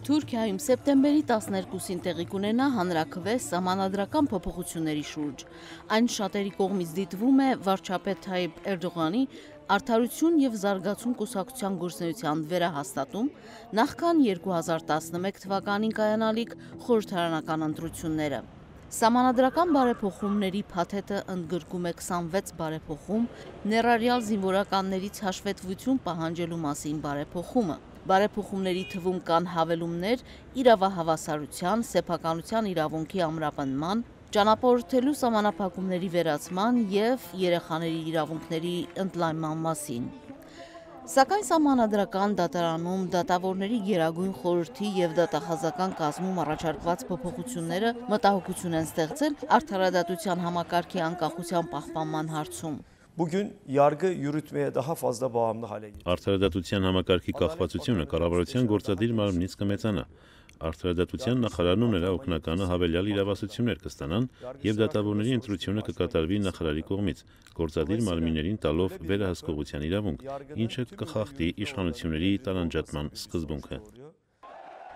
Թուրքիայում սեպտեմբերի 12-ին տեղի կունենա հանրաքվե սահմանադրական փոփոխությունների շուրջ։ Այն շատերի կողմից դիտվում է վարչապետ Թայիպ Էրդողանի Արդարություն և զարգացում կուսակցության գործունեության վերահաստատում, նախքան 2011 թվականին կայանալիք խորհրդարանական ընտրությունները։ Սահմանադրական բարեփոխումների փաթեթը ընդգրկում է 26 բարեփոխում, ներառյալ զինվորականներից հաշվետվություն պահանջելու մասին բարեփոխումը։ Բարեփոխումների թվում կան հավելումներ իրավահավասարության, սեփականության իրավունքի ամրապնդման, ճանապարհորդելու սահմանափակումների վերացման և երեխաների իրավունքների ընդլայնման մասին։ Սակայն Սահմանադրական դատարանում դատավորների գերագույն խորհրդի և դատախազական կազմում առաջարկված փոփոխությունները մտահոգություն են ստեղծել արդարադատության համակարգի անկախության պահպանման հարցում։ Bugün yargı yürütmeye daha fazla bağımlı hale geldi. Արդարադատության համակարգի կախվածությունը կառավարության գործադիր մարմնից կմեծանա։ Արդարադատության նախարարն ու նրա օգնականը հավելյալ իրավասություններ կստանան և դատավորների ընտրությունը կկատարվի նախարարի կողմից, գործադիր մարմիններին տալով վերահսկողության իրավունք, ինչը կխախտի իշխանությունների տարանջատման սկզբունքը։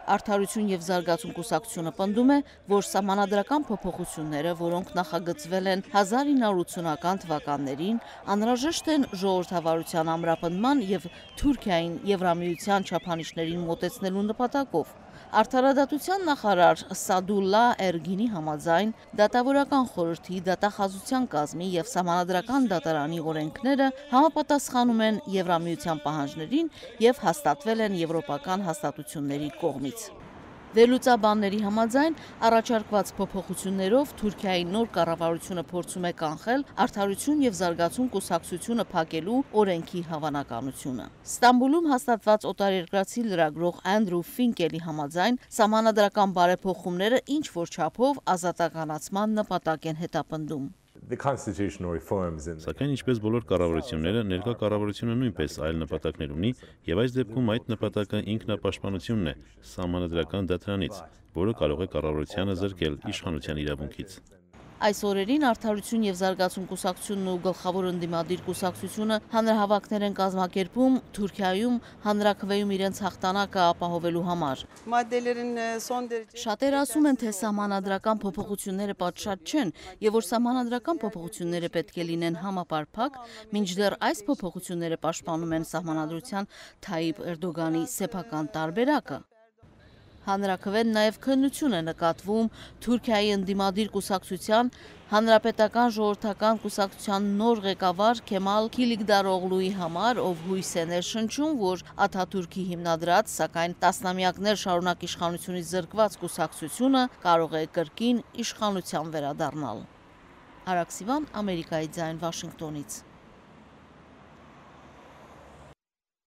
Արդարություն և զարգացում կուսակցությունը պնդում է, որ սահմանադրական փոփոխությունները, որոնք նախագծվել են 1980-ական թվականներին, անհրաժեշտ են ժողովրդավարության ամրապնդման և Թուրքիային Եվրամիության չափանիշներին մոտեցնելու նպատակով։ Արդարադատության նախարար Սադուլլա Էրգինի համաձայն դատավորական խորհրդի, դատախազության կազմի և Սահմանադրական դատարանի օրենքները համապատասխանում են Եվրամիության պահանջներին և հաստատվել են եվրոպական հաստատությունների կողմից։ Վերլուծաբանների համաձայն առաջարկված փոփոխություններով Թուրքիայի նոր կառավարությունը փորձում է կանխել Արդարություն և զարգացում կուսակցությունը փակելու օրենքի հավանականությունը։ Ստամբուլում հաստատված օտարերկրացի լրագրող Անդրու Ֆինկելի համաձայն սահմանադրական բարեփոխումները ինչ-որ չափով ազատականացման նպատակ են հետապնդում։ Սակայն ինչպես բոլոր կառավարությունները, ներկա կառավարությունը նույնպես այլ նպատակներ ունի և այս դեպքում այդ նպատակը ինքնապաշտպանությունն է Սահմանադրական դատարանից, որը կարող է կառավարությանը զրկել իշխանության իրավունքից։ Այս օրերին Արդարություն և զարգացում կուսակցությունն ու գլխավոր ընդդիմադիր կուսակցությունը հանրահավաքներ են կազմակերպում Թուրքիայում հանրաքվեում իրենց հաղթանակը ապահովելու համար։ Շատերը ասում են, թե սահմանադրական փոփոխությունները պատշաճ չեն և որ սահմանադրական փոփոխությունները պետք է լինեն համապարփակ, մինչդեռ այս փոփոխությունները պաշտպանում են Սահմանադրության Թայիպ Էրդողանի սեփական տարբերակը։ Հանրաքվեն նաև քննություն է նկատվում Թուրքիայի ընդդիմադիր կուսակցության Հանրապետական ժողովրդական կուսակցության նոր ղեկավար Քեմալ Քիլիգդարօղլուի համար, ով հույս է ներշնչում, որ Աթաթուրքի հիմնադրած, սակայն տասնամյակներ շարունակ իշխանությունից զրկված կուսակցությունը կարող է կրկին իշխանության վերադառնալ։ Արաքսիվան, Ամերիկայի ձայն, Վաշինգտոնից։